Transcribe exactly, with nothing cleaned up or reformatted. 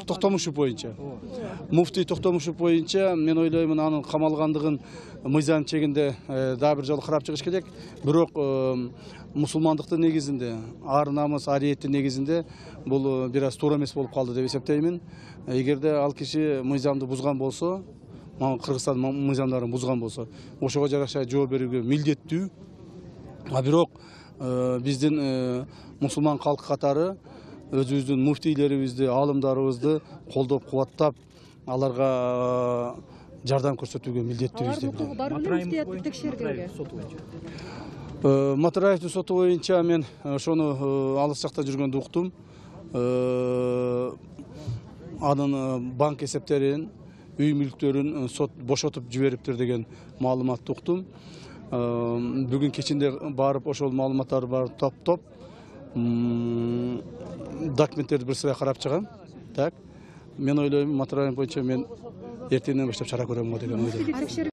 Токтомушев боюнча. Муфтий Токтомушев боюнча мен ойлоймун анын камалгандыгын мыйзам чегинде дагы бир жолу карап чыгыш керек. Бирок мусулмандыктын негизинде, ар намыс, ариеттин негизинде бул бир аз туура эмес болуп калды деп эсептеймин. Эгерде ал киши мыйзамды бузган болсо, Кыргызстан мыйзамдарын бузган болсо, ошого жараша жооп берүүгө милдеттүү. А бирок биздин мусулман калк катары өзүбүздүн муфтийлерибизди, аалымдарыбызды колдоп, кубаттап, аларга жардам көрсөтүүгө милдеттүүбүз деп билем. Бар беле текшергенге. Матараевдин соту боюнча мен ошону алыс жакта жүргөндө уктум. Анын банк эсептерин, үй мүлктөрүн сот бошотуп жибериптир деген маалыматты уктум. Бүгүн кечинде барып ошол маалыматтарды барып топтоп, документтерди бир сырай карап чыгам. Так. Мен ойлойм, Матараев боюнча мен эртеңден баштап чара көрөм го деген ойдомун.